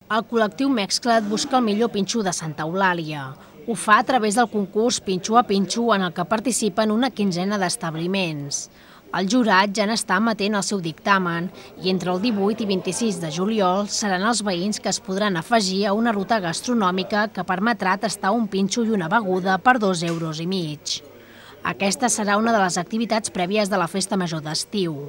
El col·lectiu Mexcla't busca el millor pinxo de Santa Eulàlia. Ho fa a través del concurs Pinxo a Pinxo, en el que participen una quinzena d'establiments. El jurat ja n'està emetent el seu dictamen i entre el 18 i 26 de juliol seran els veïns que es podran afegir a una ruta gastronòmica que permetrà tastar un pinxo i una beguda per 2,5 €. Aquesta serà una de les activitats prèvies de la Festa Major d'estiu.